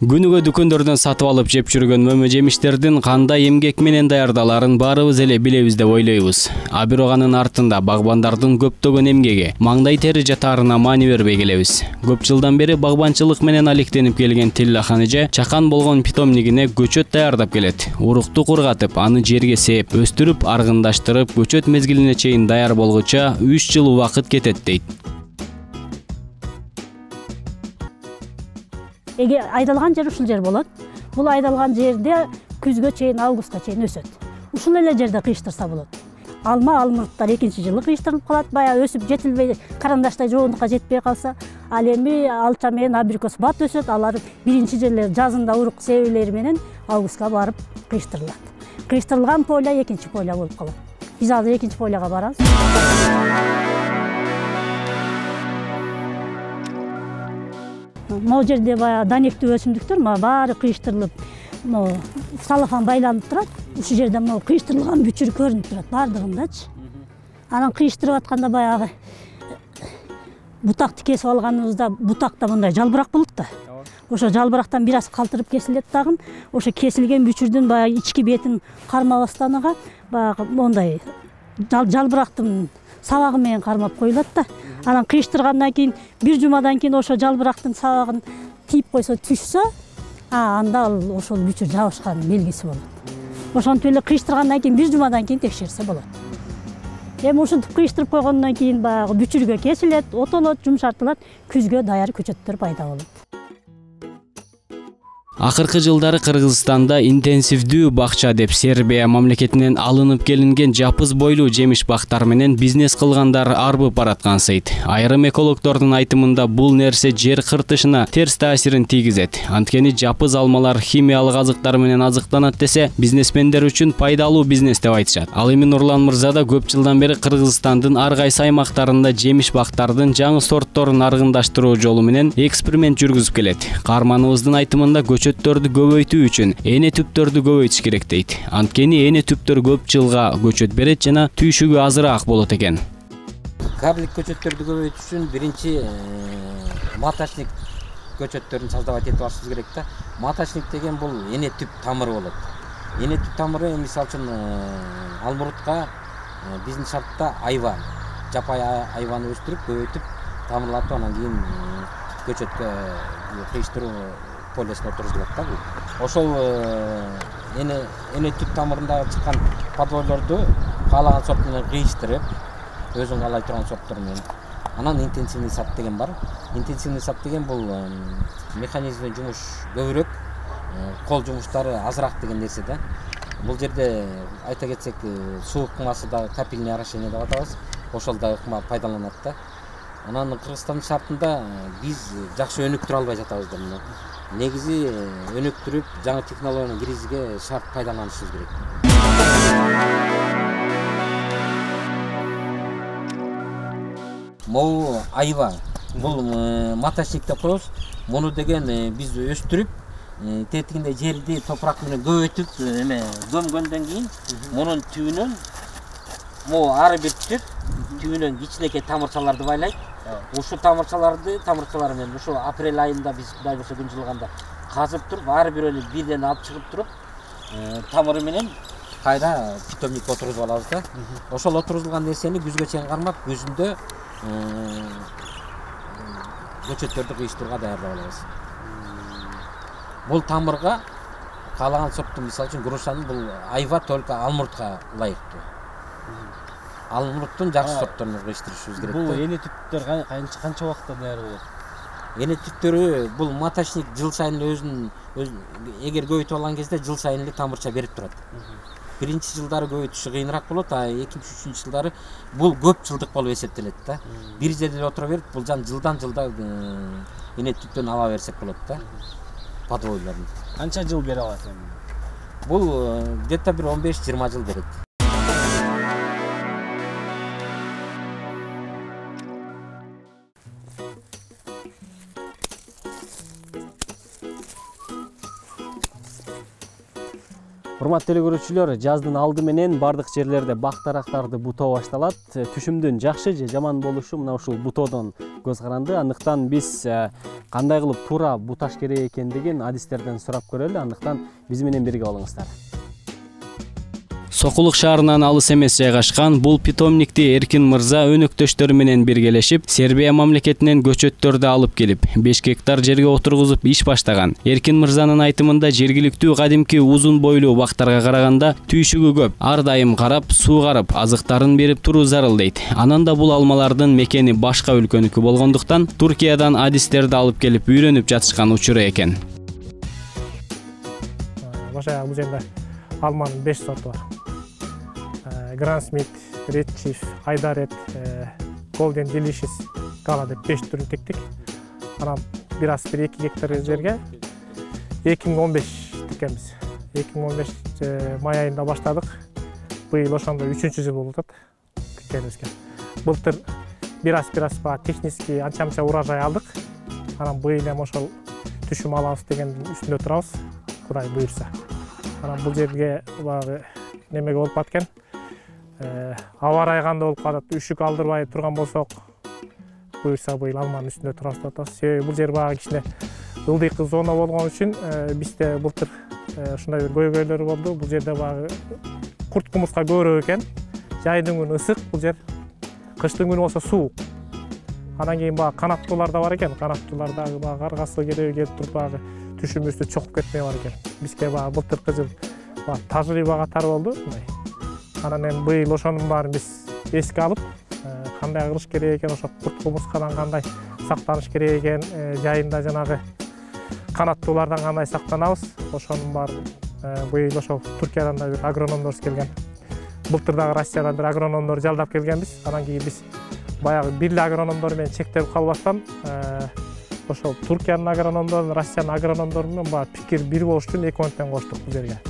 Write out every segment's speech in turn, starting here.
Күнүгө дүкөндөрдөн сатып алып жеп жүргөн мөмө жемиштердин кандай эмгек менен даярдаларын баарыбыз эле билебиз деп ойлойбуз. А бирок анын артында багбандардын көптөгөн эмгеги, маңдай тери жатаарына маани бербей келебиз. Көп жылдан бери багбанчылык менен алектенип келген Тилла Ханижа чакан болгон питомнигине көчөт даярдап келет. Урукту кургатып, аны жерге сээп, өстүрүп, аргындаштырып, көчөт мезгилине чейин даяр болгуча 3 жыл убакыт кетет дейт. Эге айдалган жер ушул жер болот. Бул айдалган жерде күзгө чейин, августка чейин өсөт. Ушул эле жерде кыйыштырса болот. Алма, алмурттар 2-жылы кыйыштырылып калат, бая өсүп жетилбей, карандаштай жоонукка жетпей калса. Ал эми алча менен абрикос бат өсөт, алар 1-жылы жазында урук себелери менен августка барып кыйыштырылат. Кыйыштырылган поля 2 поля болуп калат. Биз азыр 2 поляга барабыз. Могу жерде бая данектүү өсүмдүктөр баары кыйыштырылып, салафан байланып турат. Ушул жерде кыйыштырылган бүчүр көрүнүп турат баардыгындачы. Анан кыйыштырып атканда баягы бутакты кесип алганыбызда, бутакта мындай жалбырак болот да. Ошо жалбырактан бир аз калтырып кесилет дагы. Ошо кесилген бүчүрдүн баягы ички бетин кармабастан баягы мондай жалбырактын сабагы менен кармап коюлат да. Анан кыйыштыргандан кийин 1 жумадан кийин ошо жалбырактын сабагын тийип койсо, түшсө, анда ал ошол бүчүр жабышкан белгиси болот. Ошентип эле кыйыштыргандан кийин 1 жумадан кийин текшерсе болот. Эми ушинтип кыйыштырып койгондон кийин баягы бүчүргө кесилет, отолот, жумшартылат, күзгө даяр көчөттөр пайда болот. Акыркы жылдары Кыргызстанда интенсивдүү бакча деп Сербия мамлекетинен алынып келинген жапыз бойлуу жемиш бактар менен бизнес кылгандар арбып бараткансыйт. Айрым экологдордун айтымында бул нерсе жер кыртышына терс таасирин тийгизет. Анткени жапыз алмалар химиялык азыктар менен азыктанат десе, бизнесмендер үчүн пайдалуу бизнес деп айтышат. Ал эми Нурлан мырза да көп жылдан бери Кыргызстандын ар кайсы аймактарында жемиш бактардын жаңы сортторун аргындаштыруу жолу менен эксперимент жүргүзүп келет. Каарманыбыздын айтымында көчөттөрдү көбөйтүү үчүн эне түптөрдү көбөйтүш керек дейт. Анткени эне түптөр көп жылга көчөт берет жана түйшүгү азыраак болот экен. Карлик көчөттөрдү көбөйтүш үчүн биринчи маточник көчөттөрүн создавать этип алышыбыз керек да. Маточник деген бул эне түп тамыры болот. Эне түп тамыры мисалы үчүн алмурутка биздин шартта айва, жапай айваны өстүрүп, көбөйтүп, тамырлатып, анан кийин көчөткө кыйыштыруу полесине отургузулат да бул. Ошол эне түп тамырындагы чыккан подвойлорду каалаган сорт менен кыйыштырып, өзүң каалай турган сорттор менен. Анан интенсивный сад деген бар. Интенсивный сад деген бул механизмден жумуш көбүрөөк, кол жумуштары азыраак деген нерсе да. Бул жерде айта кетсек, суу ыкмасы да капельный орошение деп атабыз. Ошол да ыкма пайдаланат да. Анан Кыргызстандын шартында биз жакшы өнүктүрө албай жатабыз да муну. Негизи өнүктүрүп, жаңы технологияны киргизүүгө шарт пайдаланышыбыз керек. Могу айва, бул маточник деп коебуз. Муну деген биз өстүрүп, тетигинде жерди топурак менен көбөйтүп, көмгөндөн кийин мунун түбүнөн могу ар бир түп түбүнөн кичинекей тамырчаларды байлайт. Ушул тамырчалар менен ушул апрель айында биз Кудай буйрса күн жылганда казып туруп, ар бирөөнү бирден алып чыгып туруп, тамыры менен кайра питомникке отургузуп алабыз да. Ошол отургузулган нерсени күзгө чейин кармап, күзүндө көчөттөрдү кыйыштырууга даярдап алабыз. Бул тамырга каалаган сорттун, мисалы үчүн грушанын бул айва только алмуртка ылайыктуу. Алмуруттун жакшы сортторун кыйыштырышыбыз керек. Бул эне түптөр канча убакытта даяр болот? Эне түптөрү бул маточник жыл сайын өзүн эгер көбөйтүп алган кезде жыл сайын эле тамырча берип турат. Биринчи жылдары көбөйтүшү кыйыныраак болот, а 2-3 жылдары бул көп жылдык болуп эсептелет да. Бир жерде отура берип, бул жылдан жылда эне түптөн ала берсек болот да. Подвойлорун. Канча жыл бере алат эми? Бул где-то бир 15-20 жыл берет. Урматтуу көрүүчүлөр, жаздын алды менен бардык жерлерде бак дарактарды бутоо башталат. Түшүмдүн жакшы же жаман болушу мына ушул бутоодон көз каранды. Андыктан биз кандай кылып туура буташ керек экендигин адистерден сурап көрөлү. Андыктан биз менен бирге болуңуздар. Сокулук шаарынан алыс эмес жайгашкан бул питомникти Эркин мырза өнөктөштөрү менен биргелешип, Сербия мамлекетинен көчөттөрдү алып келип, 5 гектар жерге отургузуп иш баштаган. Эркин мырзанын айтымында жергиликтүү кадимки узун бойлуу бактарга караганда түйшүгү көп. Ар дайым карап, суугарып, азыктарын берип туруу зарыл дейт. Анан да бул алмалардын мекени башка өлкөнүкү болгондуктан Туркиядан адистерди алып келип үйрөнүп жатышкан учуру экен. Башка бул жерде алманын 5 сорту бар. Grand Smith, Red Chief, Айдарет, Golden Delicious, Gala деп 5 түрүн тектик. Анан бир 2 гектар жерге 2015 тиккенбиз. 2015 май айында баштадык. Быйыл ошондо 3-жыл болуп атат тиккенибизге. Былтыр бир аз технически анча урожай алдык. Анан быйыл эми ошол түшүм алабыз деген үстүндө турабыз, Кудай буйрса. Анан бул жерге баягы немеге болуп аткан. Аба ырайы кандай болуп калат, үшүк алдырбай турган болсок, буйрса быйыл алманын үстүндө турабыз деп атабыз. Себеби бул жер баягы кичине ылдый зона болгон үчүн бизде былтыр ушундай бир көйгөйлөр болду. Бул жерде баягы курт кумурска көбүрөөк экен. Жайдын күнү ысык, бул жер кыштын күнү болсо суук. Анан кийин баягы канаттуулар да бар экен. Канаттуулар дагы баягы аргасы келип туруп баягы түшүмүбүздү чокуп кетмей бар экен. Бизге баягы былтыркы жыл тажрыйба катары болду. Анан эми быйыл ошонун баарын биз эске алып, кандай кылыш керек экен, ошо курт кумурскадан кандай сактаныш керек экен, жайында жанагы канаттуулардан кандай сактанабыз, ошонун баарын быйыл ошо Туркиядан да бир агрономдорубуз келген. Былтыр дагы Россиядан бир агрономдор жалдап келгенбиз. Анан кийин биз баягы бирле агрономдор менен чектелип калбастан, ошо Туркиянын агрономдору, Россиянын агрономдору менен баягы пикир бир болуш үчүн экөөндөн коштук бул жерге.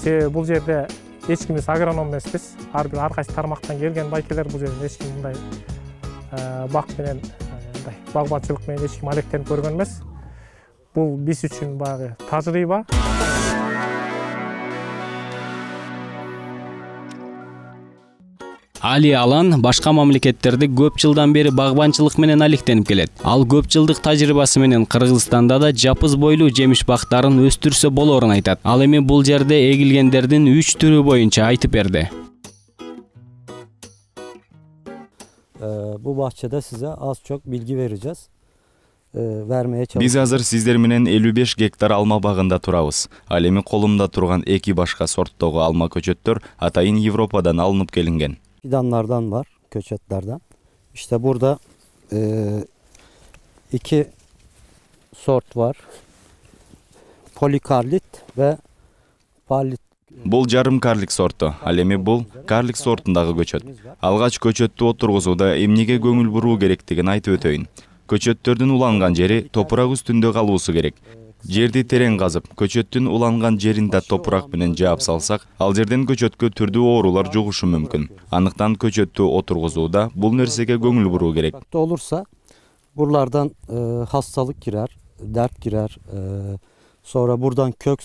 Себеби бул жерде эч кимибиз агроном эмеспиз. Ар кайсы тармактан келген байкелер, бул жерде эч ким мындай бак менен, мындай багбанчылык менен эч ким алектенип көргөн эмес. Бул биз үчүн баягы тажрыйба. Али Алан башка мамлекеттерде көп жылдан бери багбанчылык менен алектенип келет. Ал көп жылдык тажрыйбасы менен Кыргызстанда да жапыз бойлуу жемиш бактарын өстүрсө болоорун айтат. Ал эми бул жерде эгилгендердин 3 түрү боюнча айтып берди. Bu bahçede size az çok bilgi vereceğiz. Vermeye çalışacağız. Биз азыр сиздер менен 55 гектар алма багында турабыз. Ал эми колумда турган 2 башка сорттогу алма көчөттөр атайын Европадан алынып келинген. Fidanlardan var, köçetlerden. İşte burada 2 sort var. Polikarlit ve palit. Бул жарым карлик сорту. Ал эми бул карлик сортундагы көчөт. Алгач көчөттү отургузууда эмнеге көңүл буруу керектигин айтып өтөйүн. Көчөттөрдүн уланган жери топурак үстүндө калуусу керек. Жерди терең казып, көчөттүн уланган жеринде топурак менен жаап салсак, ал жерден көчөткө түрдүү оорулар жугушу мүмкүн. Андыктан көчөттү отургузууда бул нерсеге көңүл буруу керек. Olursa buralardan hastalık girer, dert girer. Sonra buradan kök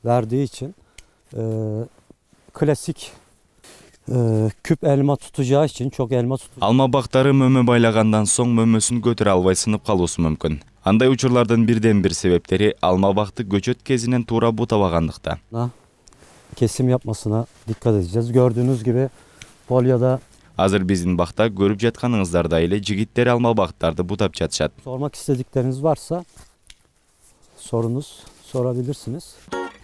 verdiği için klasik küp elma tutacağı için çok elma tutacak. Alma bактары мөмө байлагандан соң мөмөсүн көтөрө албай сынып калуусу мүмкүн. Андай учурлардын бирден бир себептери алма бакты көчөт кезинен туура бутабагандыкта. Kesim yapmasına dikkat edeceğiz. Gördüğünüz gibi Polya'da Азыр биздин бакта көрүп жатканыңыздардай эле жигиттер алма бактарды бутап жатышат. sormak istedikleriniz varsa sorabilirsiniz.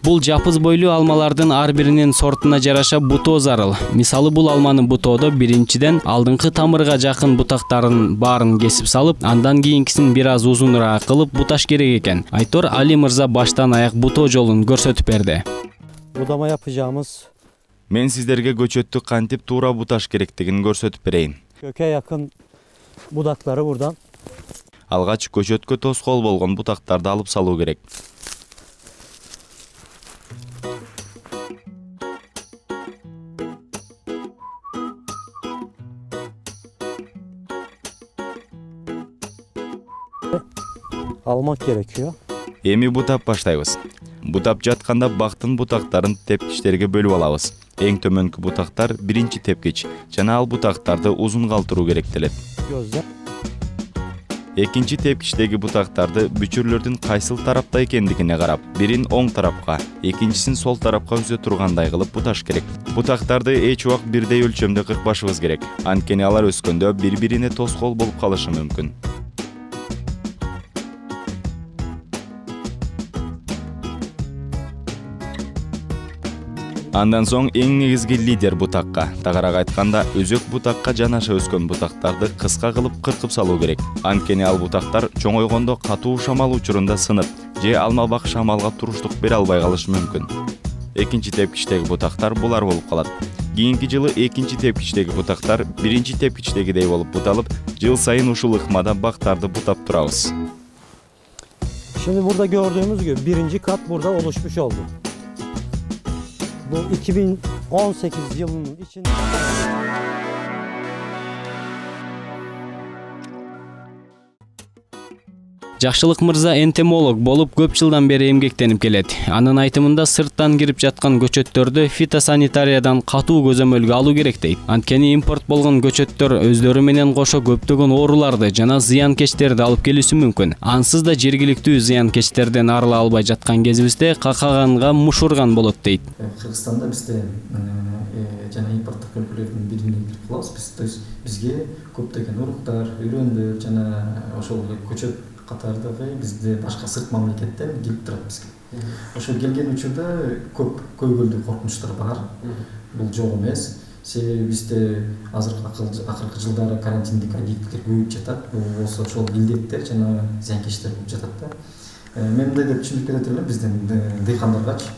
Бул жапыз бойлуу алмалардын ар биринин сортуна жараша бутоо зарыл. Мисалы бул алманы бутоодо биринчиден алдыңкы тамырга жакын бутактарын баарын кесип салып, андан кийинкисин бир аз узунураак кылып буташ керек экен. Айтор Али мырза баштан аяк бутоо жолун көрсөтүп берди. Budama yapacağımız Мен сиздерге көчөттү кантип туура буташ керектигин көрсөтүп берейин. köke yakın budakları buradan Алгач көчөткө тоскоол болгон бутактарды алып салуу керек. almak gerekiyor. Эми бутап баштайбыз. Бутап жатканда бактын бутактарын тепкичтерге бөлүп алабыз. Эң төмөнкү бутактар биринчи тепкич жана ал бутактарды узун калтыруу керектелет. Экинчи тепкичтеги бутактарды бүчүрлөрдүн кайсыл тарапта экендигине карап, бирин оң тарапка, экинчисин сол тарапка үзө тургандай кылып буташ керек. Бутактарды эч убак бирдей өлчөмдө кыркпашыбыз керек. Анткени алар өскөндө бири-бирине тоскоол болуп калышы мүмкүн. Андан соң эң негизги лидер бутакка, тагарак айтканда өзөк бутакка жанаша өскөн бутактарды кыска кылып кыркып салуу керек. Анткени ал бутактар чоңойгондо катуу шамал учурунда сынып, же алмабак шамалга туруштук бере албай калышы мүмкүн. Экинчи тепкичтеги бутактар булар болуп калат. Кийинки жылы экинчи тепкичтеги бутактар биринчи тепкичтегидей болуп буталып, жыл сайын ушул ыкмада бактарды бутап турабыз. Şimdi burada gördüğümüz gibi birinci kat burada oluşmuş oldu. Bu 2018 yılının içinde... Жакшылык мырза энтомолог болуп көп жылдан бери эмгектенип келет. Анын айтымында сырттан кирип жаткан көчөттөрдү фитосанитариядан катуу көзөмөлгө алуу керек дейт. Анткени импорт болгон көчөттөр өздөрү менен кошо көптөгөн ооруларды жана зыянкечтерди алып келүүсү мүмкүн. Ансыз да жергиликтүү зыянкечтерден арыла албай жаткан кезибизде какаганга мушурган болот дейт. Кыргызстанда бизде жана импорттук өлкөлөрдүн бирине кирип калабыз. То есть бизге көптөгөн уруктар, үрөндөр жана ошол көчөт катардагы бизде башка сырт мамлекеттен келип турат бизге. Ошо келген учурда көп көйгөйлүү коркунучтар бар. Бул жок эмес. Себеби бизде акыркы жылдары карантиндик объекттер көбөйүп жатат. Бул болсо ошол илдеттер жана зыянкечтер болуп жатат да. Мен мындай деп түшүндүрүп кетет элем биздин дыйкандаргачы.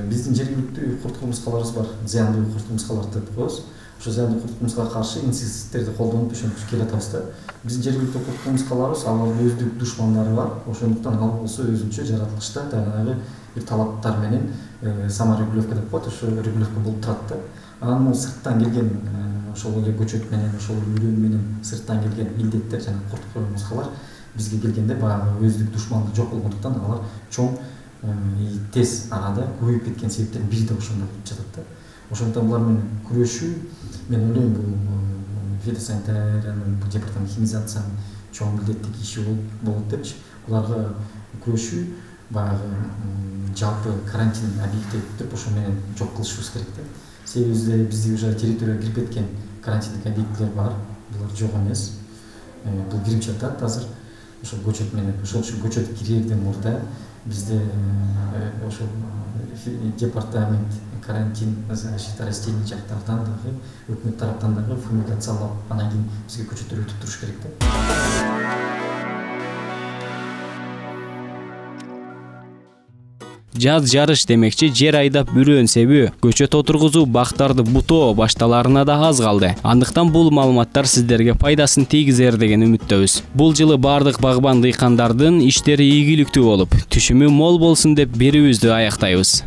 Биздин жергиликтүү курт кумурскаларыбыз бар. Зыяндуу курт кумурскаларды деп коебуз. Ошо зыяндуу курт кумурскага каршы инсектицидтерди колдонуп ошентип келатабыз да. Биздин жергиликтүү курт кумурскаларыбыз алардын өздүк душмандары бар. Ошондуктан ал болсо өзүнчө жаратылышта жанагы бир талаптар менен саморегулировка деп коет, ошо регулировка болуп турат да. Анан сырттан келген ошол эле көчөт менен, ошол үрөн менен сырттан келген илдеттер жана курт кумурскалар бизге келгенде баягы өздүк душмандык жок болгондуктан алар чоң тез арада көбөйүп кеткен себептердин бири да ошондо болуп жатат да. Ошондуктан булар менен күрөшүү, мен ойлойм, бул фитосанитариянын департамент химизациянын чоң милдеттик иши болот депчи. Буларга күрөшүү баягы жалпы карантин объекттеп ошо менен жок кылышыбыз керек да. Себеби бизде уже территорияга кирип кеткен карантиндик объекттер бар, булар жок эмес. Бул кирип жатат азыр. Ошол көчөт менен, ошол үчүн көчөт кирерден мурда бизде ошол департамент карантин защита растений жактардан дагы өкмөт тараптан дагы фумигациялап анан кийин бизге көчөттөр өтүп туруш керек да. Жаз жарыш демекчи жер айдап үрөн себүү, көчөт отургузуу, бактарды бутоо башталарына да аз калды. Андыктан бул маалыматтар сиздерге пайдасын тийгизер деген үмүттөбүз. Бул жылы бардык багбан дыйкандардын иштери ийгиликтүү болуп, түшүмү мол болсун деп берүүбүздү аяктайбыз.